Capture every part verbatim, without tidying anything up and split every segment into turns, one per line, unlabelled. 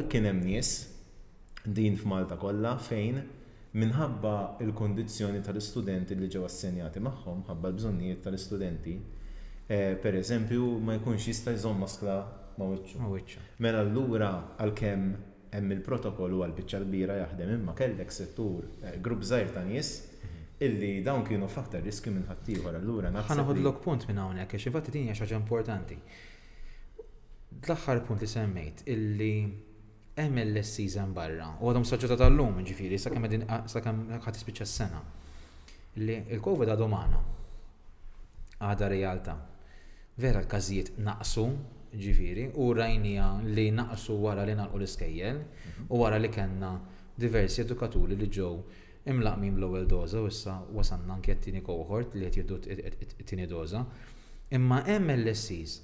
kien hemm nies din f'Malta kollha fejn minħabba il-kondizzjoni tal-istudenti li ġew assenjati magħhom, ħabba l-bżonnijiet tal-istudenti, eh, per eżempju, ma jkunx jista' jżomm maskla ma' wiċċu.
Ma' wiċċu.
Mela allura, għalkemm hemm il-protokoll u għall-biċċa kbira jaħdem, imma kellek settur, eh, grupp żgħir ta' nies illi dawn kienu f'aktar riskju minn ħaddieħor. Allura
Ħa
naħseb li-
noħodlok punt minn hawnhekk, għax infatti din hija xi ħaġa importanti. L-aħħar punt li semmejt, illi hemm L S Es barra u għadhom saġġata tal-lum, ġifieri sakemm qegħdin, sakemm ħadd tispiċċa s-sena. Illi il-Covid għadu magħna. Għadha realtà. Vera l-każijiet naqsu, ġifieri, u rajnija li naqsu wara li nagħlqu l-iskejjel u wara li kellna diversi edukaturi li ġew imlaqqmin bl-ewwel doża u issa wasalna anke t-tieni cohort li qed jieħdu t-tieni doża. Imma hemm L S Es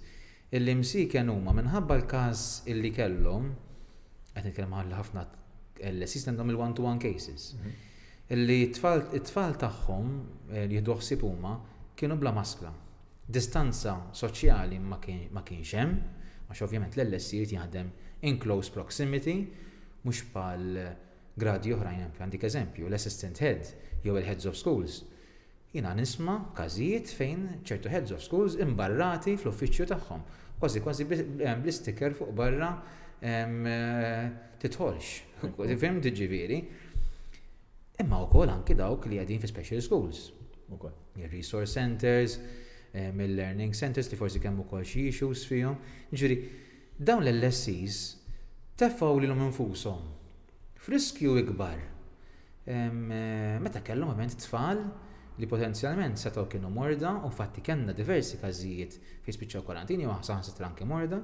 illi msiken huma minħabba l-każ illi kellhom, qed nitkellem għal ħafna L S Es għandhom il-one-to-one cases. Illi t-tfal it-tfal tagħhom eh, li jieħdu ħsieb huma kienu bla maskla. Distanza soċjali ma kien- ma kienx hemm, għax ovvjament l-L S E jrid jaħdem in close proximity, mhux bħal gradi oħrajn. Għandik eżempju, l-assistant head jew il-heads of schools. Jiena nisma' każijiet fejn ċertu heads of schools imbarrati fl-uffiċċju tagħhom. Kważi kważi bl-sticker fuq barra em, eh, "tidħolx". Fhimt, ġifieri? Imma wkoll anki dawk li qegħdin fi special schools.
Ukoll.
Il-resource centers, il-learning centers li forsi kemm ukoll xi issues fihom. Ġifieri, dawn l-L S Es tefgħu lilhom infushom f'riskju ikbar Em, eh, Meta kellhom ovvjament tfal li potenzjalment setgħu kienu morda, u fatti kellna diversi każijiet fejn spiċċaw kwarantini u saħansitra anke morda.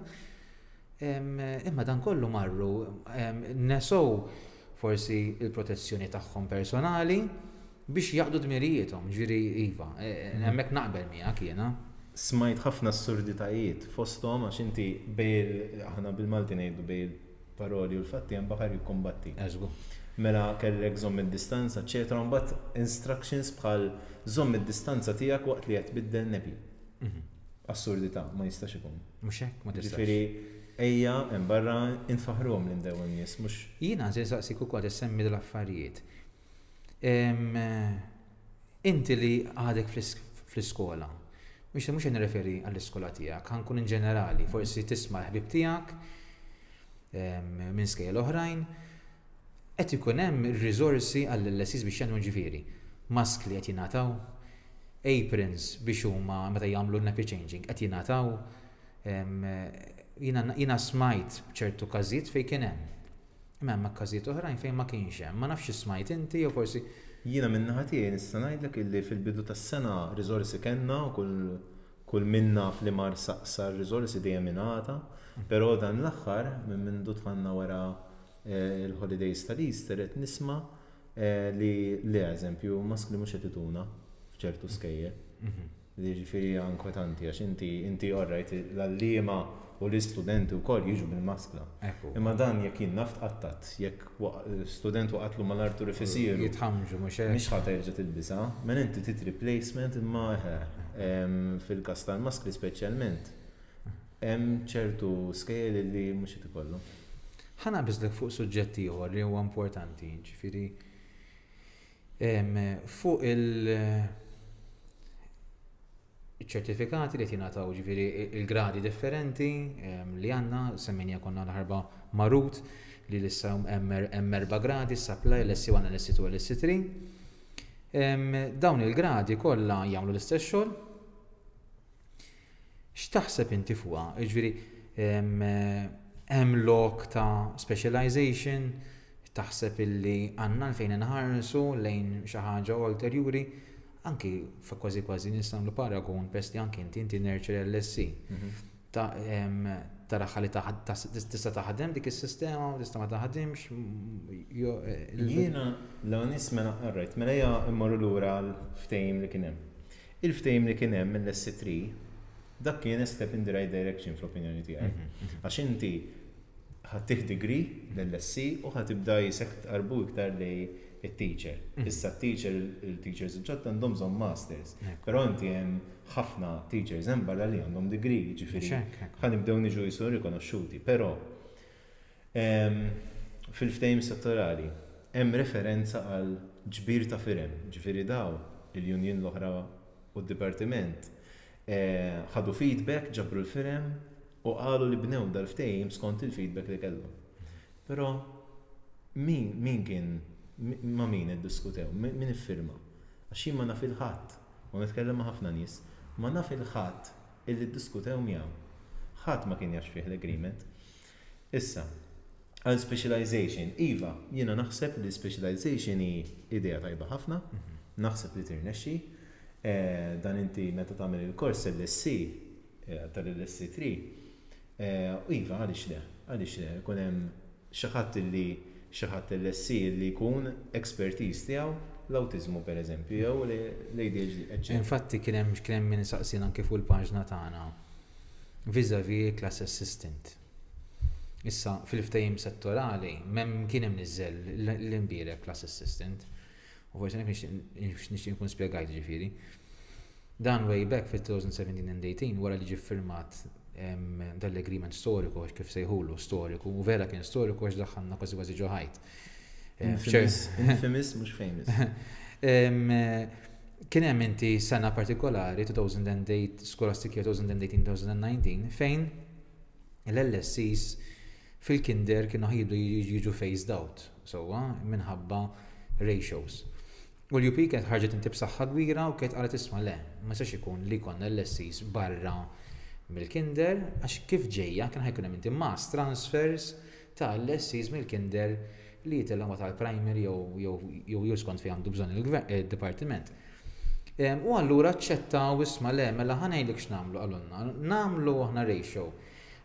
Em, Imma dan kollu marru em, nesow forsi il-protezzjoni tagħhom personali biex jaqdu dmirijiethom, ġifieri iva, eh, hemmhekk naqbel miegħek jiena.
Smajt ħafna assurditajiet fosthom għax inti bejn, aħna bil-Malti ngħidu, bejn il-paroli u l-fatti hemm baħar jikkombatti.
Eżgu.
Mela kellek żomm id-distanza, eċetera, mbagħad instructions bħal żomm id-distanza tiegħek waqt li qed tbiddel nappy.
Mhm.
Assurdità, ma jistax ikun.
Mhux hekk, ma tistax.
Ġifieri ejja hemm barra infaħruhom lil dawn in-nies, mhux
Jiena se nsaqsik ukoll, issemmi dal-affarijiet. Em, Inti li għadek fl-is- fl-iskola, mhux mhux qed nirreferi għall-iskola tiegħek, ħa nkun in ġenerali, forsi tisma' l-ħbib tiegħek em, minn skejjel oħrajn, qed ikun hemm ir-riżorsi għall-L S Es biex jagħmlu, ġifieri, maskli qed jingħataw, aprons biex huma meta jagħmlu nappy changing qed jingħataw, em, jiena jiena smajt ċertu każijiet fejn kien hemm. Imma hemm każijiet oħrajn fejn ma kienx hemm. Ma nafx smajt inti jew forsi
Jiena minn naħa tiegħi nista' ngħidlek illi fil-bidu tas-sena riżorsi kellna u kull kull minna fl-imar saqsa r-riżorsi dejjem ingħata, però dan l-aħħar minn mindu dħalna wara eh, il-holidays tal-Easter qed nisma' eh, li li eżempju maskli mhux qed ituna f'ċertu skejjel. Li ġifieri inkwetanti għax inti inti alright, l-għalliema u l-istudenti wkoll jiġu bil-maskla.
Ekku.
Imma dan jekk jien naf tqattat, jekk wa- student waqatlu mal-artu rifisiru,
Jitħamġu, mhux hekk.
mhix ħa terġa' tilbisha, men inti trid replacement, imma eħe, em, fil-każ tal-maskli speċjalment. Hemm ċertu skejjel li mhux qed ikollu.
Ħa naqbiżlek fuq suġġett ieħor li huwa importanti, ġifieri em, fuq il- ċertifikati li jingħataw, ġifieri il-gradi differenti em, li għandna, semmejna konna l-ħarba marut li issa hemm hemm erba' gradi, supply, L S C one, L S C two, L S C three. Em, Dawn il-gradi kollha jagħmlu l-istess xogħol. X'taħseb inti fuqha? Ġifieri em, hemm lok ta' specialization, taħseb illi għandna fejn inħarsu lejn xi ħaġa ulterjuri, anki fa' kważi kważi nistgħu nagħmlu paragun pest li anki inti inti nurture L S C. Ta' em, taraha li taħ- tas- tista' taħdem dik is-sistema u tista' ma taħdimx. m- jo- eh, il-
Jiena la nisma' alright, mela ejja immorru lura l-ftehim li kien hemm. Il-ftehim li kien hemm mill-S C three, dak kien a step in the right direction fl-opinjoni tiegħi. Għax inti ħa ttih degree l-L S C u ħa tibda jisek tqarbu iktar lejn it-teacher. Issa t-teacher, il-teachers il-ġodda għandhom bżonn masters.
Ekku.
Però inti hemm ħafna teachers hemm barra li għandhom degree, ġifieri
Mhux hekk, ekku.
ħa nibdew niġu jisu rikonoxxuti. Però Em, Fil-ftehim settorali, hemm referenza għal ġbir ta' firem, ġifieri daw il-union l-oħra u d-dipartiment eh, ħadu feedback, ġabru l-firem u qalu li bnew dal-ftehim skont il-feedback li kellhom. Però min, min kien, mi- ma' min iddiskutew, min min iffirma? Għax jien ma naf 'il ħadd, u nitkellem ma' ħafna nies, ma naf 'il ħadd illi ddiskutew miegħu. Ħadd ma kien jaf fih l-agreement. Issa, għal specialization, iva, jiena naħseb li specialization hi idea tajba ħafna, naħseb li tirnexxi, eh, dan inti meta tagħmel il-kors L S C eh, tal-L S C tlieta, eh, u iva, għaliex le, għaliex le, ikun hemm xi ħadd li xi ħadd L S C li jkun expertise tiegħu l-awtiżmu, per eżempju, jew l-A D H D, eċċetera.
Infatti kien hemm kien hemm min saqsina anke fuq il-paġna tagħna vis-a-vis class assistant. Issa fil-ftehim settorali m'hemm kien hemm niżel l-imbierek class assistant. U forsi nixtieq nixtieq nkun spjegajt, ġifieri. Dan way back fil-twenty seventeen and eighteen, wara li ġie firmat em, dal-agreement storiku, għax kif sejħulu storiku, u vera kien storiku għax daħħalna kważi kważi ġo ħajt. Em,
Infamous, infamous mhux famous.
Em, eh, Kien hemm inti sena partikolari, two thousand eight, scholastic year twenty eighteen-twenty nineteen, fejn l-L S Cs fil-kinder kienu ħa jibdew jiġu phased out, sewwa, minħabba ratios. U l-U P kienet ħarġet inti b'saħħa kbira u kienet qalet, "Isma' le, ma sax ikun li konna L S Cs barra mill-kinder," għax kif ġejja kien ħa jkun hemm inti mass transfers ta' L S Cs mill-kinder li jitilgħu ma tal-primary jew jew jew jew skont fejn għandu bżonn il-dipartiment. Em, U allura aċċettaw, "Isma' le, mela ħa ngħidlek x'nagħmlu," qalulna. "Nagħmlu aħna ratio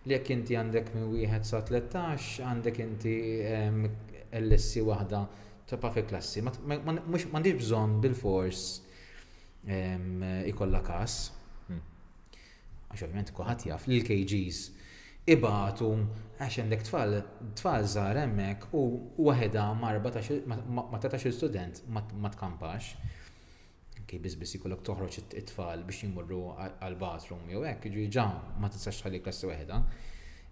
li jekk inti għandek minn wieħed sa tlettax għandek inti em, L S C waħda ta' pa fi klassi. Ma- ma- ma- mhux- M'għandix bżonn bil-fors em, ikollha każ."
Hmm.
Għax ovvjament kulħadd jaf li l-K Gs ibatu għax għandek tfal tfal żgħar hemmhekk u waħedha ma' erbatax ma' ma' tlettax-il student ma ma tkampax. Kej biss biss jkollok toħroġ it- it-tfal biex jimorru għal-bathroom jew hekk, ġi ġa ma tistax tħalli klassi waħedha.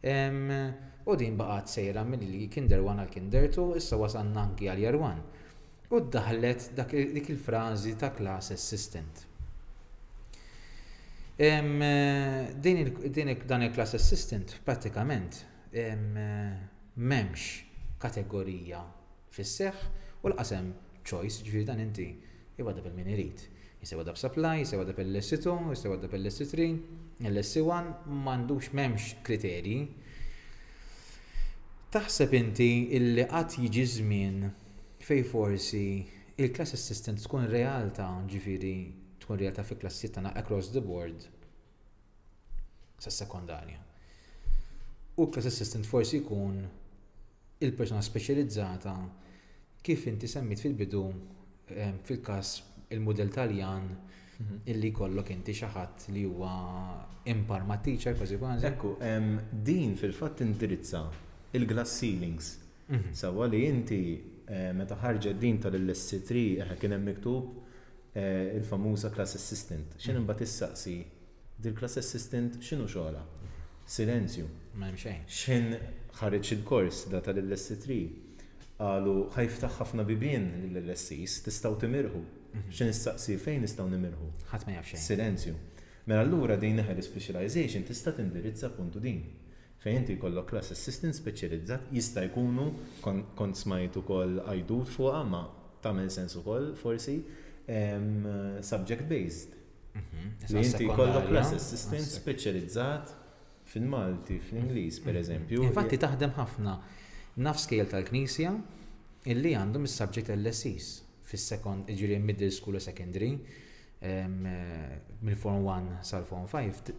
Em, U din baqgħet sejra mill kinder one għal kinder two, issa wasalna anki għal year one. U daħlet dak dik il-frażi ta' class assistant. Em, eh, Din il- din il- dan il-class assistant prattikament em, eh, m'hemmx kategorija fis-seħħ u lanqas hemm choice, ġifieri dan inti jwadda bil min irid. Jista' jwadda b'supply, jista' jwadda bil-L S two, jista' jwadda bil-L S three, L S one, m'għandux, m'hemmx kriterji. Taħseb inti illi qatt jiġi żmien fej forsi il-class assistant tkun realtà, ġifieri tkun realtà fi klassijiet tagħna across the board sa sekondarja? U class assistant forsi jkun il-persona speċjalizzata kif inti semmit fil-bidu, em, fil-każ il-mudell Taljan, illi jkollok inti xi ħadd li huwa impar ma' teacher kważi kważi.
Ekku, em, din fil-fatt indirizza il-glass ceilings.
Mhm.
Sewwa, li inti eh, meta ħarġet din tal-L S C tlieta, eh, kien hemm miktub eh, il-famuża class assistant. X'in imbagħad issaqsi dil-class assistant x'inhu xogħolha? Silenzju.
Ma hemm xejn.
X'in ħareġ il-kors da tal-L S C tlieta, qalu ħa jiftaħ ħafna bibien lill-L S Cs, tistgħu timirħu. X'in issaqsi, fejn nistgħu nimirħu?
Ħadd ma jaf xejn.
Silenzju. Mela allura din naħa specialization tista' tindirizza puntu din. Fejn inti jkollok class assistant speċjalizzat, jista' jkunu kon- kont smajt ukoll għajdut fuqha, ma tagħmel sens ukoll forsi em, subject based.
Mhm.
Li inti jkollok class
Sekondarja.
assistant speċjalizzat fil-Malti, fl-Ingliż, per eżempju.
Infatti taħdem ħafna, naf skejjel tal-Knisja illi għandhom is-subject L S Cs fis-second, ġifieri middle school u secondary, em, eh, mill-Form one sal-Form five t-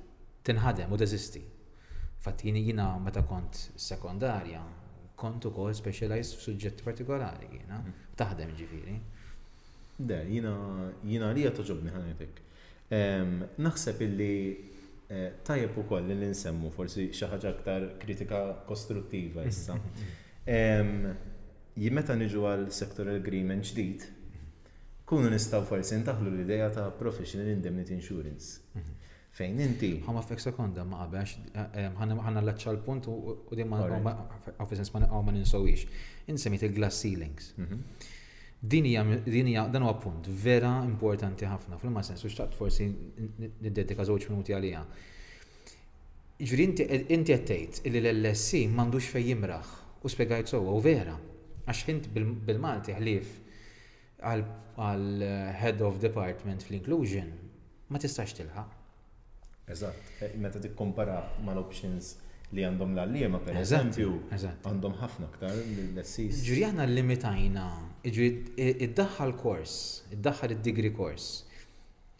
tinħadem u teżisti. Infatti jien jiena meta kont sekondarja kont ukoll specialized f'suġġetti partikolari jiena. Taħdem, ġifieri.
De, jiena jiena li togħġobni, ħa ngħidlek. Naħseb illi eh, tajjeb ukoll li nsemmu forsi xi ħaġa aktar kritika kostruttiva issa. Em, Jien meta niġu għal sectoral agreement ġdid, kunu nistgħu forsi ndaħlu l-idea ta' professional indemnity insurance. Fejn inti
Ħa nwaqqfek sekonda ma qabel, ħa nallaċċa l-punt u u din ma fis-sens ma ma ninsowix. Insemmit il-glass ceilings.
Mhm.
Din hija din hija dan huwa punt vera importanti ħafna fl sens u xtaqt forsi niddedika żewġ minuti għaliha. Ġifieri inti inti qed tgħid li l-L S E m'għandux fejn jimraħ u spjegajt sewwa u vera. Għax int bil- bil-Malti ħlief għal għal head of department fl-inclusion ma tistax tilħaq.
Eżatt, eh, meta tikkompara mal-options li għandhom l-għalliema, per
Eżatt,
eżempju,
eżatt.
għandhom ħafna aktar l-L S Es.
Ġifieri aħna limitajna, ġifieri iddaħħal kors, iddaħħal id-degree course.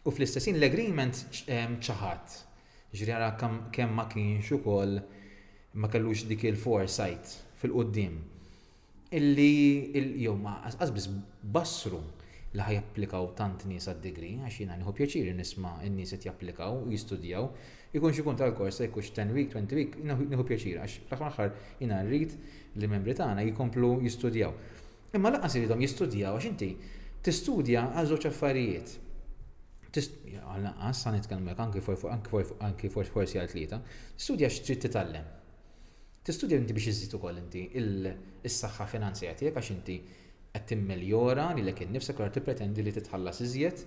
U fl-istessin l-agreement ċ- ċaħat. Ġifieri ara kemm kemm ma kienx ukoll ma kellux dik il-foresight fil-qoddim. Illi il- jew ma qas biss bassru li ħa japplikaw tant nies għad-degree, għax jiena nieħu pjaċir nisma' n-nies qed japplikaw u jistudjaw, ikun x'ikun tal-kors, jkunx ten week, twenty week, nieħu nieħu pjaċir, għax fl-aħħar aħħar jiena rrid li membri tagħna jkomplu jistudjaw. Imma lanqas iridhom jistudjaw għax inti tistudja għal żewġ affarijiet. Għal lanqas ħa nitkellmek anki for- anki for- anki for- forsi għal tlieta. Tistudja x'trid titgħallem. Tistudja inti biex iżid ukoll inti il- is-saħħa finanzjarja tiegħek għax inti qed timmeljora lilek innifsek u tippretendi li titħallas iżjed,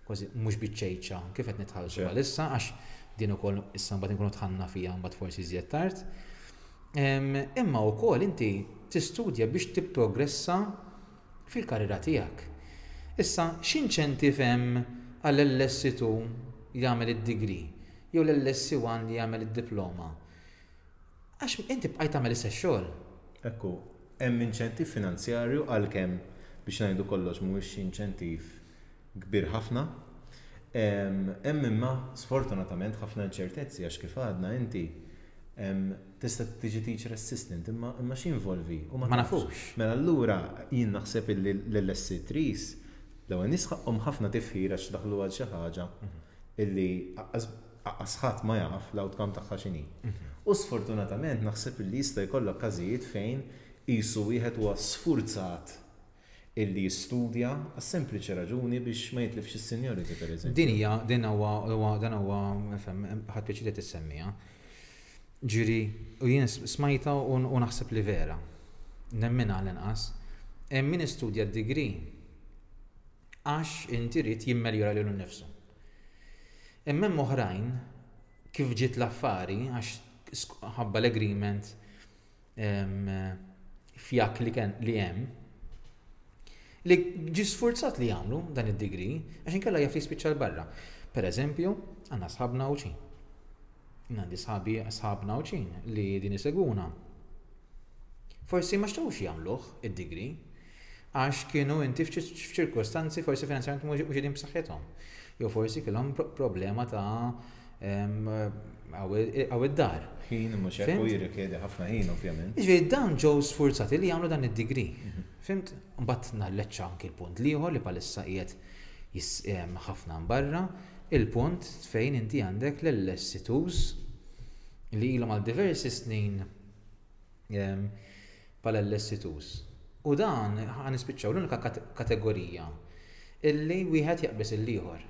kważi mhux biċ-ċejċa kif qed nitħallsu
Ċe.
bħalissa, għax din ukoll issa mbagħad inkunu dħalna fiha mbagħad forsi iżjed tard. Em, Imma wkoll inti tistudja biex tipprogressa fil-karriera tiegħek. Issa, x'inċentiv hemm għall-L S E two jagħmel id-degree jew l-L S E one li jagħmel id-diploma? Għax inti bqajt tagħmel istess xogħol.
Ekku, hemm inċentiv finanzjarju, għalkemm biex ngħidu kollox mhuwiex inċentiv kbir ħafna. Em, Hemm imma sfortunatament ħafna inċertezzi għax kif għadna inti em, tista' tiġi teacher assistant imma imma x'involvi u
Ma
tafx.
nafux.
Mela allura jien naħseb illi l-L S E threes l-ewwel nisħaqhom ħafna tifħir għax daħlu għal xi ħaġa illi aqqas aqqas ħadd ma jaf l-outcome tagħha x'inhi. U sfortunatament naħseb illi jista' jkollok każijiet fejn qisu wieħed huwa sfurzat illi jistudja għas-sempliċi raġuni biex ma jitlifx is-seniority, per eżempju.
Din hija din huwa huwa dan huwa fem ħadd pjaċir li tissemmija. Ġifieri u jien smajta u u naħseb li vera. Nemmina l-inqas. Hemm min istudja d-degree għax inti rid jimmeljora lilu nnifsu. Imma hemm oħrajn kif ġiet l-affari għax sk- ħabba l-agreement em, fjak li kien li hemm li ġi sfurzat li jagħmlu dan id-degree għax inkella jaf li jispiċċa 'l barra. Per eżempju, għandna sħabna Għawdxin. Għandi sħabi sħabna Għawdxin li din isegwuna. Forsi ma xtaqux jagħmluh id-degree għax kienu inti f'ċirkostanzi forsi finanzjarjament mhux qegħdin b'saħħithom. Jew forsi kellhom pro- problema ta' em, għaw id-dar.
Ħin mhux hekk u
Fhimt?
jirrikjedi ħafna ħin, ovvjament.
Ġifieri dawn ġew sfurzati li jagħmlu dan id-degree. Fhimt? Mbagħad nalleċċa anki l-punt l-ieħor li bħalissa qiegħed jis- em, ħafna barra, il-punt fejn inti għandek l-L S E twos li ilhom għal diversi snin em, bħala L S E twos. U dan ħa nispiċċaw l-unika kate- kategorija illi wieħed jaqbeż il-ieħor.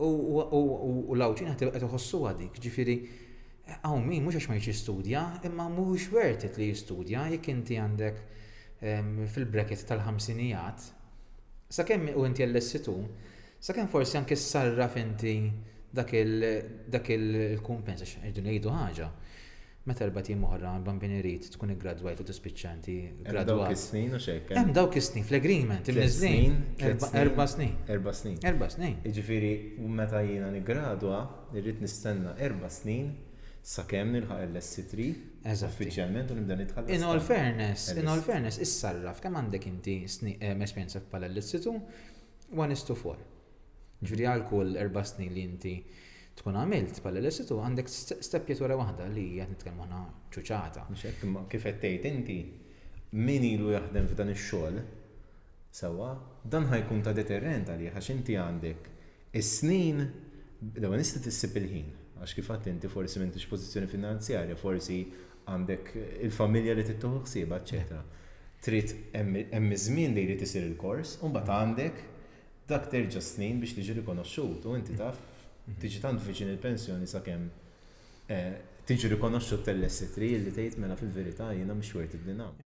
U u- u- u l-Għawdxin qed iħossu dik, ġifieri hawn min mhux għax ma jistudja, imma mhux worth it li jistudja jekk inti għandek em, fil-bracket tal-ħamsinijat, sakemm u inti L S E two, sakemm forsi anke sarraf inti dak il- dak il-kumpens, għax irridu ngħidu ħaġa. Meta erbat ijiem oħra bambin irid tkun iggradwajt u tispiċċa inti
Hemm dawk
gradwat.
is-snin u xek.
Hemm dawk is-snin fl-agreement
Tliet
imniżlin.
snin, tliet
Erba'
snin.
Erba' snin.
Erba' snin.
Erba' snin.
Jiġifieri meta jiena niggradwa, irrid nistenna erba' snin sakemm nilħaq L S E three
Eżatti.
uffiċjalment u nibda nitħallas.
In all fairness, in all
L S.
fairness, issarraf kemm għandek inti sni- em, esperjenza bħala L S E two, one is to four. Ġifieri għal kull erba' snin li inti tkun għamilt bħala L S E two għandek st- steppjatura waħda li hija nitkellmu aħna ċuċata.
Mhux hekk, imma kif qed tgħid inti, min ilu jaħdem f'dan ix-xogħol sewwa, dan ħa jkun ta' deterrent għalih għax inti għandek is-snin, l-ewwel nista' tissib il-ħin, għax kif għedt inti forsi m'intix pożizzjoni finanzjarja, forsi għandek il-familja li tieħu ħsiebha, eċetera. Trid hemm hemm iż-żmien li jrid isir il-kors, u mbagħad għandek dak terġa' snin biex tiġi rikonoxxut u inti taf Tiġi tant viċin il-pensjoni sakemm eh, tiġi rikonoxxut tal-L S three li tgħid, "Mela fil-verità jiena mhux worth it li nagħmel."